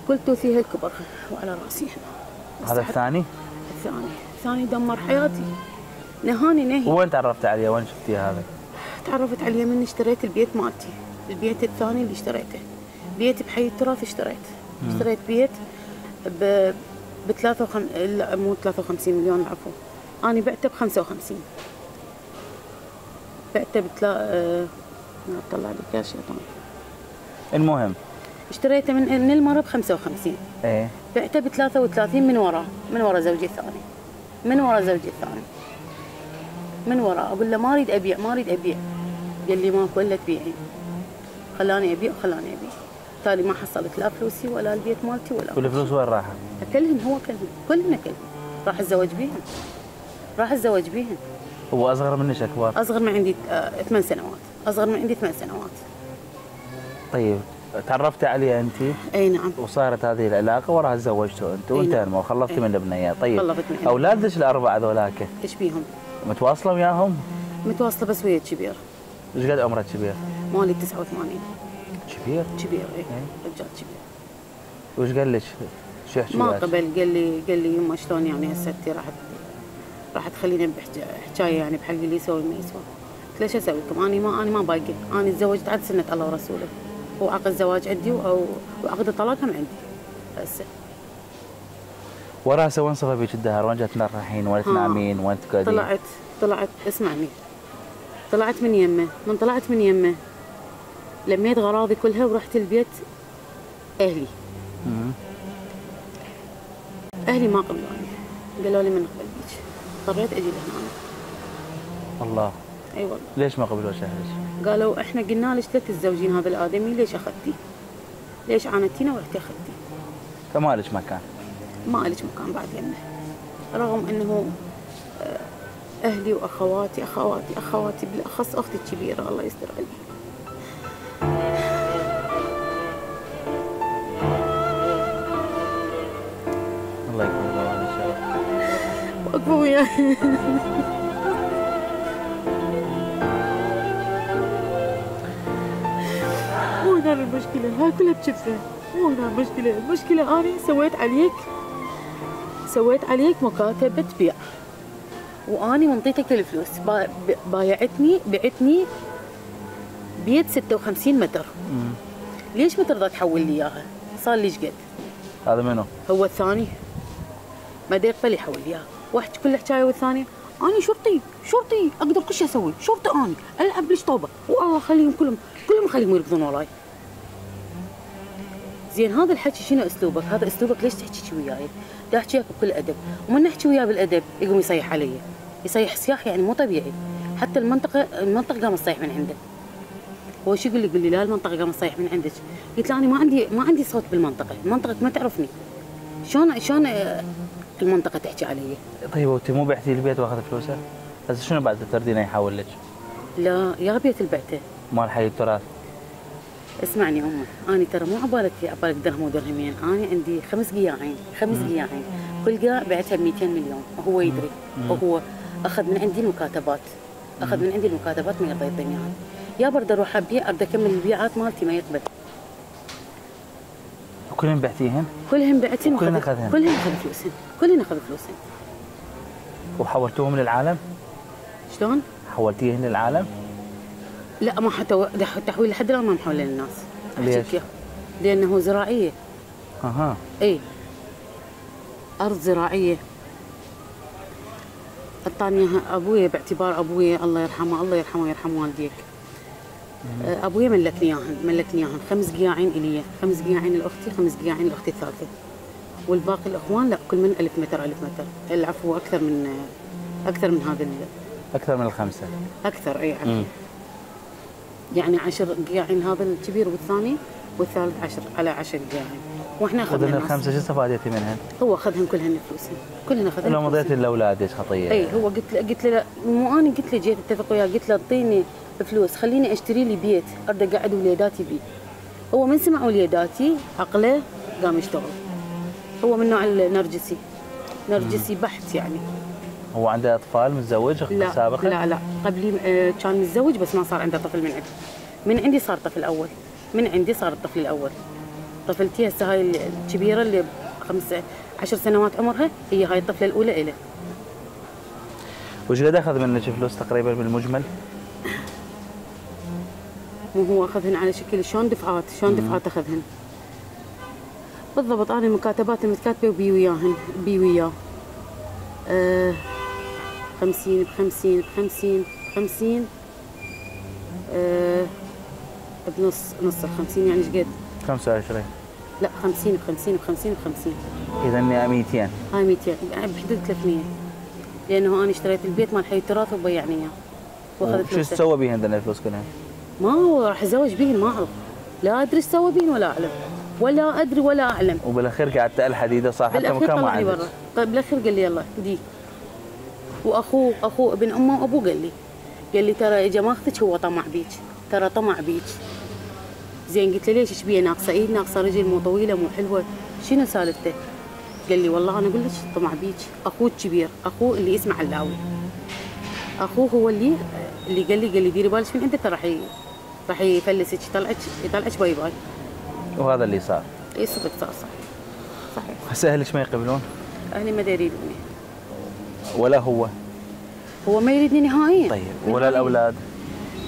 قلت فيها الكبر وعلى راسي احنا. هذا الثاني؟ الثاني دمر حياتي، نهاني نهي. وين تعرفت عليه؟ وين شفتيه هذا؟ تعرفت عليه من اشتريت البيت مالتي، البيت الثاني اللي اشتريته، بيت بحي التراث اشتريت بيت ب 53 مليون العفو. انا بعته ب 55. بعته طلع لي كاش يا طبعا. المهم اشتريته من المره ب 55. ايه بعته ب 33 من ورا زوجي الثاني. من ورا اقول له ما اريد ابيع. قال لي ماكو الا تبيعين. خلاني ابيع. بالتالي ما حصلت لا فلوسي ولا البيت مالتي ولا كل الفلوس وين راحت؟ كلهن كلهن. راح اتزوج بيهن. هو اصغر منك اكبر؟ اصغر من عندي 8 سنوات. طيب تعرفتي عليه انت؟ اي نعم. وصارت هذه العلاقه وراها تزوجتوا انت وانتهى وخلفتي من البنيه. طيب خلفت من اولادك الاربعه ذولاك ايش بيهم؟ متواصله وياهم؟ متواصله بس ويا الكبير. ايش قد عمره الكبير؟ مالي 89. كبير اي رجال كبير. وش قال لك؟ شو يحكي؟ ما قبل. قال لي يما شلون يعني هسه انت راح تخليني بحكايه يعني بحق اللي يسوي ما يسوي. قلت له شو اسوي لكم؟ انا ما باقي. انا تزوجت عاد سنه الله ورسوله. وعقد زواج عندي وعقد الطلاق هم عندي هسه. وراسه وين صفى بيك الدهر؟ وين جات تنرحين؟ وين تنامين؟ وين تقعدين؟ طلعت اسمعني. طلعت من يمه لميت غراضي كلها ورحت البيت اهلي. اهلي ما قبلوني، قالوا لي من نقبل بيك. اضطريت اجي لهنا. الله. اي والله. ليش ما قبلوا اهلك؟ قالوا احنا قلنا لك لا تتزوجين هذا الادمي، ليش اخذتي؟ ليش عاندتينا ورحتي اخذتي؟ فما لك مكان. ما لك مكان بعد يمه. رغم انه اهلي واخواتي بالاخص اختي الكبيره الله يستر عليها. الله يكون بعون ان شاء الله. واقفه وياي. مو هنا المشكله، هاي كلها بشفه. مو هنا المشكله انا سويت عليك مكاتبه بيع واني منطيتك الفلوس. بعتني بيت 56 متر. ليش ما ترضى تحول لي اياها؟ صار لي ايش قد؟ هذا منو؟ هو الثاني. ما يقبل يحول لي اياها. واحد كل حكايه والثانيه اني شرطي اقدر كل شيء اسوي، شرطي اني العب ليش طوبه والله خليهم كلهم خليهم يركضون وراي. زين هذا الحكي شنو اسلوبك؟ هذا اسلوبك ليش تحكي وياي؟ دا احكي وياك بكل ادب، ومن نحكي وياه بالادب يقوم يصيح علي، يصيح صياح يعني مو طبيعي. حتى المنطقه قامت تصيح من عنده. هو شو يقول لي لا المنطقه قامت تصيح من عندك. قلت له انا ما عندي صوت بالمنطقه، المنطقه ما تعرفني. شلون المنطقه تحكي علي؟ طيب وانت مو بعتي البيت واخذ فلوسه؟ هسه شنو بعد تردينه يحول لك؟ لا يا بيت البعته مال حي التراث. اسمعني امه، انا ترى مو عبالك درهم ودرهمين، انا عندي 5 قياعين، كل قاع بعتها ب 200 مليون، وهو يدري، وهو اخذ من عندي المكاتبات، ما يرضى يعطيني اياها. يا برد اروح ابيع، ارد اكمل البيعات مالتي ما يقبل. كلهم بعتيهن؟ كلهم بعتين كلهم اخذهن؟ كلهم اخذ فلوسهم. وحولتوهم للعالم؟ شلون؟ حولتيهن للعالم؟ لا ما حتى تحويل لحد الان ما محوله للناس. ليش؟ لانه زراعيه. اها. اي ارض زراعيه. اعطاني اياها ابويا باعتبار ابويا الله يرحمه ويرحم والديك. ابويا ملكني اياهن 5 قياعين الي، 5 قياعين لاختي، 5 قياعين لاختي الثالثه. والباقي الاخوان لا كل من 1000 متر. العفو اكثر من هذا اكثر من ال5. اكثر اي عفو. يعني 10 قياعين هذا الكبير والثالث 10 على 10 قياعين. واحنا اخذنا ال5 شو استفادتي منهن؟ هو اخذهن كلهن فلوسهن، كلهن اخذهن. لو مضيتي لاولادك خطيه. اي هو قلت له مو انا قلت له جيت اتفق وياه، قلت له اعطيني فلوس خليني اشتري لي بيت ارد اقعد وليداتي بيه. هو من سمع وليداتي عقله قام يشتغل. هو من نوع النرجسي بحت يعني. هو عنده اطفال متزوج سابقا؟ لا قبلي كان متزوج بس ما صار عنده طفل من عندي صار طفل اول. من عندي صار الطفل الاول. طفلتي هسه هاي الكبيره اللي 15 سنوات عمرها، هي هاي الطفله الاولى إله. وش قد اخذ منك فلوس تقريبا بالمجمل؟ مو هو اخذهن على شكل شلون دفعات، شلون دفعات اخذهن بالضبط. انا المكاتبات المتكاتبه وبي وياهن، بي وياه 50 ب50 ب50 ب50 بنص نص ال50 يعني ايش قد؟ 25. لا 50 ب50 ب50 ب50. اذا 200. هاي 200 يعني بحدود 300. لانه انا اشتريت البيت مال حي التراث وبيعني اياه واخذت شو تسوى بيهن ذن الفلوس كلها؟ ما هو راح اتزوج بيهن، ما اعرف، لا ادري ايش سوى بيهن ولا اعلم، ولا ادري ولا اعلم. وبالاخير قعدت الحديده صار حتى بالاخير مكان ما طلعني عندك. برا. طيب بالاخير قال لي يلا دي. واخوه ابن امه وابوه قال لي ترى اجا ماخذك هو طمع بيك، ترى طمع بيك. زين قلت له ليش ايش بيه؟ ناقصه ايد، ناقصه رجل، مو طويله، مو حلوه، شنو سالفته؟ قال لي والله انا اقول لك طمع بيك. اخوه الكبير، اخوه اللي اسمه علاوي، اخوه هو اللي قال لي ديري بالك من عنده، ترى راح يفلسك، يطلعك باي باي. وهذا اللي صار. اي صدق صار. صحيح. هسه اهلك ما يقبلون؟ اهلي ما يريدوني. ولا هو ما يريدني نهائيا. طيب ولا الاولاد؟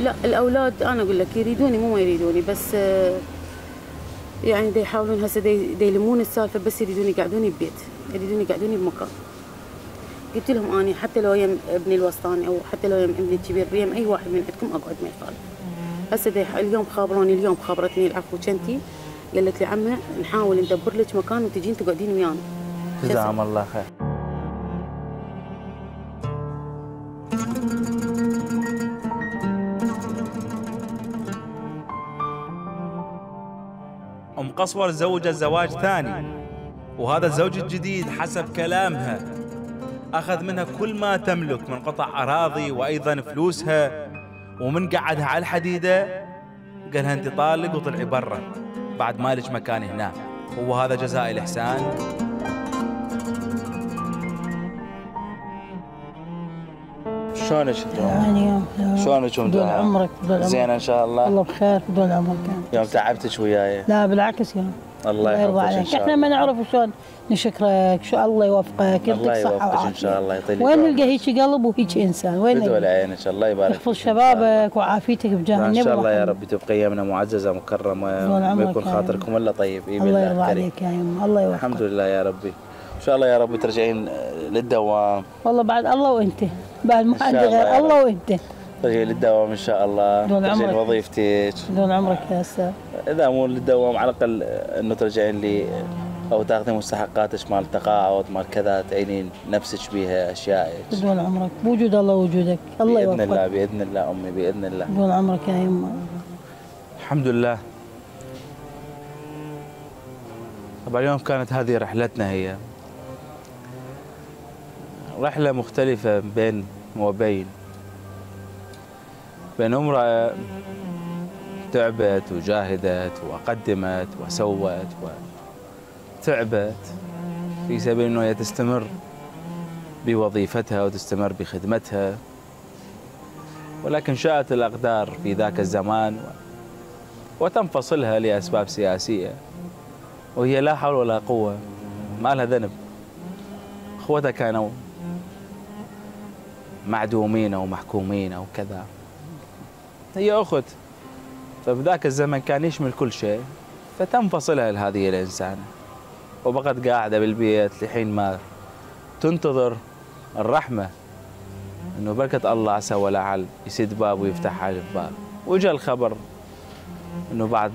لا الاولاد انا اقول لك يريدوني، مو ما يريدوني، بس يعني دا يحاولون هسه دا يلمون السالفه، بس يريدوني يقعدوني ببيت، يريدوني يقعدوني بمكان. قلت لهم اني حتى لو يم ابني الوسطاني او حتى لو يم ابني الكبير، يم اي واحد من عندكم اقعد ما يخالف. هسه اليوم اليوم خابرتني العفو كنتي، قالت لي عمه نحاول ندبر لك مكان وتجين تقعدين ويانا. جزاهم الله خير. أم قصور تزوجت زواج ثاني، وهذا الزوج الجديد حسب كلامها أخذ منها كل ما تملك من قطع أراضي وأيضا فلوسها، ومن قعدها على الحديدة قالها أنت طالق وطلعي برا بعد ما لك مكان هنا. هو هذا جزاء الإحسان؟ شلونك يعني شلونك طول عمرك زين ان شاء الله. الله بخير طول عمرك. يوم تعبتك وياي. لا بالعكس يا الله يرضى عليك. احنا ما نعرف شلون نشكرك، شو الله يوفقك، الله يوفقك ان شاء الله، يطيلك وين نلقى هيك قلب وهيك انسان؟ وين بدول عينك، الله يبارك يحفظ شبابك وعافيتك بجاه النبي. ان شاء الله يا رب تبقى يمنا معززه مكرمه، وما يكون خاطركم الا طيب. الله يرضى عليك يا يما، الله يوفقك. الحمد لله يا ربي. ان شاء الله يا رب ترجعين للدوام. والله بعد الله وانت، بعد ما عندي غير الله وانت. ترجعين للدوام ان شاء الله، ترجعين وظيفتك. طول عمرك يا استاذ. اذا مو للدوام على الاقل انه ترجعين لي او تاخذين مستحقاتك مال تقاعد مال كذا، تعينين نفسك بيها اشيائك. طول عمرك، بوجود الله وجودك، الله يوفقك. باذن الله باذن الله امي باذن الله. طول عمرك يا يما. الحمد لله. طبعا اليوم كانت هذه رحلتنا، هي رحلة مختلفة بين امرأة تعبت وجاهدت وقدمت وسوت وتعبت في سبيل انه هي تستمر بوظيفتها وتستمر بخدمتها، ولكن شاءت الأقدار في ذاك الزمان وتنفصلها لأسباب سياسية، وهي لا حول ولا قوة، ما لها ذنب. اخوتها كانوا معدومين او محكومين او كذا، هي اخت، فبذاك الزمن كان يشمل كل شيء، فتنفصلها لهذه الانسانه وبقت قاعده بالبيت لحين ما تنتظر الرحمه، انه بركه الله عسى ولعل يسد باب ويفتح على الباب. وجاء الخبر انه بعد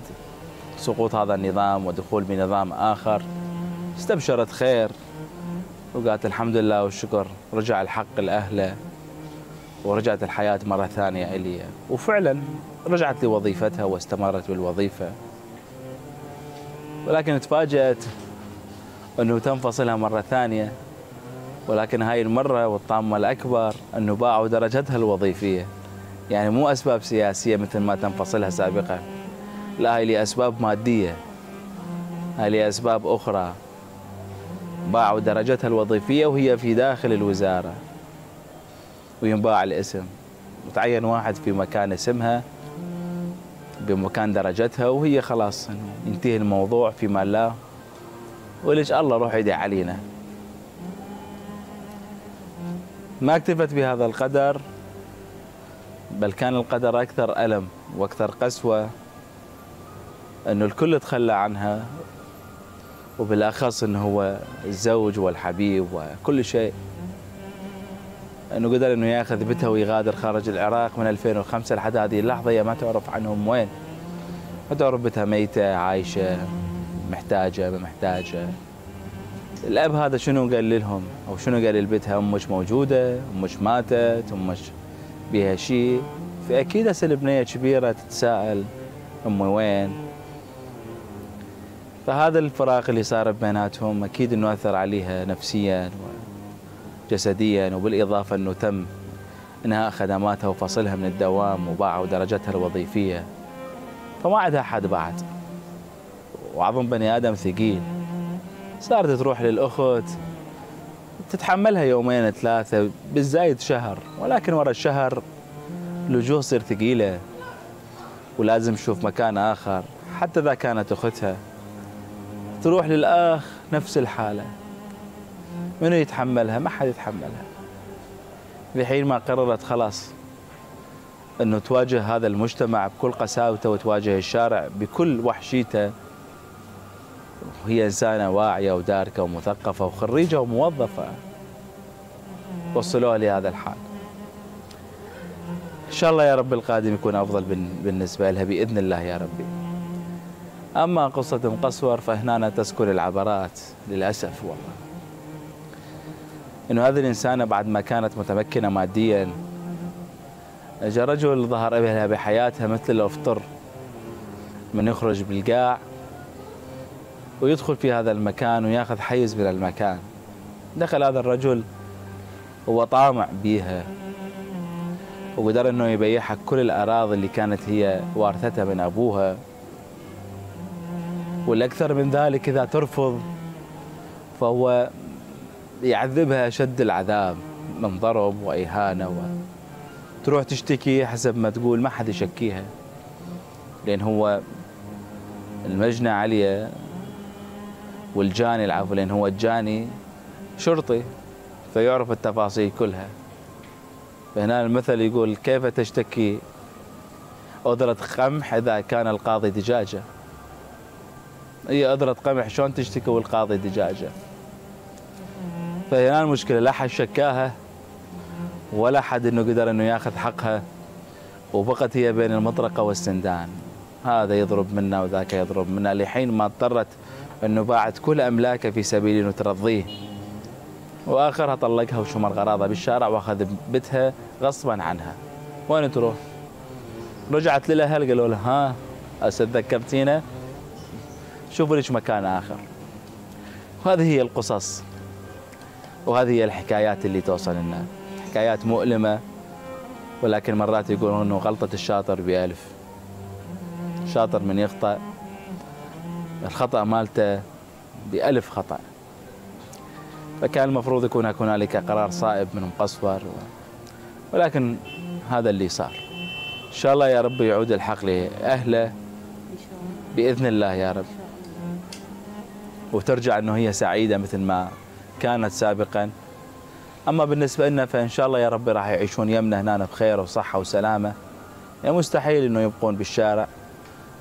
سقوط هذا النظام ودخول بنظام اخر استبشرت خير وقالت الحمد لله والشكر، رجع الحق لأهله ورجعت الحياة مرة ثانية إلي، وفعلا رجعت لوظيفتها واستمرت بالوظيفة، ولكن تفاجأت أنه تنفصلها مرة ثانية، ولكن هاي المرة والطامة الأكبر أنه باعوا درجتها الوظيفية، يعني مو أسباب سياسية مثل ما تنفصلها سابقا، لا هاي لأسباب مادية، هاي لأسباب أخرى، باعوا درجتها الوظيفية وهي في داخل الوزارة وينباع الاسم، وتعين واحد في مكان اسمها بمكان درجتها، وهي خلاص إنه ينتهي الموضوع فيما الله، ولج الله روح يدعي علينا. ما اكتفت بهذا القدر، بل كان القدر أكثر ألم وأكثر قسوة، أنه الكل تخلى عنها، وبالأخص أنه هو الزوج والحبيب وكل شيء، أنه قدر أنه يأخذ بنتها ويغادر خارج العراق من 2005 لحد هذه اللحظة. هي ما تعرف عنهم وين، ما تعرف بنتها ميتة عايشة محتاجة ما محتاجة. الأب هذا شنو قال لهم أو شنو قال لبنتها؟ أمك موجودة، أمك ماتت، أمك بيها شيء. فأكيد هسه البنية كبيرة تتساءل أمي وين. فهذا الفراق اللي صار بيناتهم أكيد أنه أثر عليها نفسيا وجسديا، وبالإضافة أنه تم إنهاء خدماتها وفصلها من الدوام وباعوا درجتها الوظيفية، فما عندها حد بعد، وعظم بني آدم ثقيل. صارت تروح للأخت تتحملها يومين ثلاثة بالزايد شهر، ولكن ورا الشهر الوجوه تصير ثقيلة ولازم تشوف مكان آخر. حتى إذا كانت أختها تروح للأخ نفس الحالة، منو يتحملها؟ ما حد يتحملها. بحين ما قررت خلاص أنه تواجه هذا المجتمع بكل قساوته وتواجه الشارع بكل وحشيته، وهي إنسانة واعية وداركة ومثقفة وخريجة وموظفة، وصلوها لهذا الحال. إن شاء الله يا رب القادم يكون أفضل بالنسبة لها بإذن الله يا ربي. أما قصة مقصور فهنا تسكن العبرات للأسف والله، إنه هذه الإنسانة بعد ما كانت متمكنة ماديا، جاء رجل ظهر لها بحياتها مثل الأفطر، من يخرج بالقاع ويدخل في هذا المكان وياخذ حيز من المكان. دخل هذا الرجل هو طامع بيها، وقدر انه يبيعها كل الاراضي اللي كانت هي وارثتها من ابوها، والاكثر من ذلك اذا ترفض فهو يعذبها اشد العذاب من ضرب واهانه، وتروح تشتكي حسب ما تقول ما حد يشكيها، لان هو المجنى عليه والجاني العفو، لان هو الجاني شرطي فيعرف التفاصيل كلها. فهنا المثل يقول كيف تشتكي أذرة قمح إذا كان القاضي دجاجة. هي أذرة قمح شلون تشتكي والقاضي دجاجة؟ فهنا المشكلة، لا حد شكاها ولا حد إنه قدر إنه ياخذ حقها، وبقت هي بين المطرقة والسندان، هذا يضرب منا وذاك يضرب منا، لحين ما اضطرت إنه باعت كل أملاكه في سبيل إنه ترضيه، واخرها طلقها وشمر غراضها بالشارع واخذ بنتها غصبا عنها. وين تروح؟ رجعت للاهل قالوا لها ها هسه تذكرتينا، شوفوا لك مكان اخر. وهذه هي القصص وهذه هي الحكايات اللي توصل لنا، حكايات مؤلمه، ولكن مرات يقولون انه غلطه الشاطر ب1000. الشاطر من يخطأ الخطأ مالته ب1000 خطأ. فكان المفروض يكون هنالك قرار صائب من مقصور، ولكن هذا اللي صار. إن شاء الله يا رب يعود الحق لأهله بإذن الله يا رب، وترجع أنه هي سعيدة مثل ما كانت سابقا. أما بالنسبة لنا فإن شاء الله يا رب راح يعيشون يمنا هنا بخير وصحة وسلامة. يعني مستحيل أنه يبقون بالشارع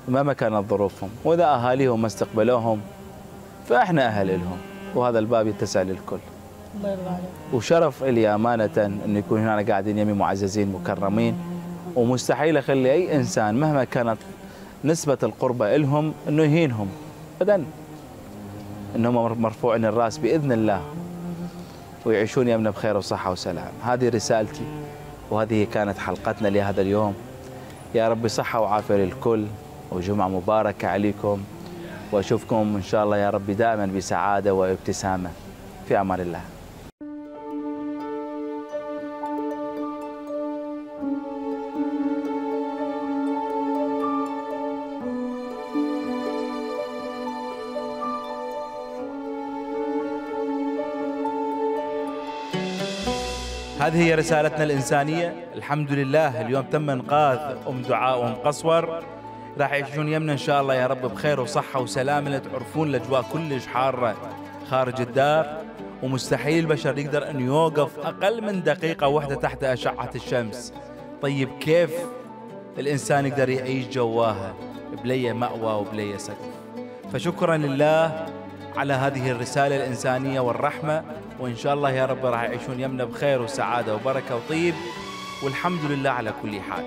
مهما كانت ظروفهم، وإذا أهاليهم ما استقبلوهم فإحنا أهل لهم، وهذا الباب يتسع للكل. الله يرضى عليك. وشرف لي أمانة أن يكون هنا قاعدين يمي معززين مكرمين، ومستحيل أخلي أي إنسان مهما كانت نسبة القربة لهم أنه يهينهم أبدا، أنهم مرفوعين الرأس بإذن الله ويعيشون يمنا بخير وصحة وسلام. هذه رسالتي وهذه كانت حلقتنا لهذا اليوم. يا رب صحة وعافية للكل وجمعة مباركة عليكم، وأشوفكم إن شاء الله يا رب دائما بسعادة وابتسامة. في أمان الله. هذه هي رسالتنا الإنسانية. الحمد لله اليوم تم إنقاذ أم دعاء وأم قصور راح يعيشون يمنا إن شاء الله يا رب بخير وصحة وسلامة، لا تعرفون الأجواء كلش حارة خارج الدار، ومستحيل البشر يقدر أن يوقف أقل من دقيقة واحدة تحت أشعة الشمس. طيب كيف الإنسان يقدر يعيش جواها بلي مأوى وبلي سقف؟ فشكرا لله على هذه الرسالة الإنسانية والرحمة، وإن شاء الله يا رب راح يعيشون يمنا بخير وسعادة وبركة وطيب، والحمد لله على كل حال.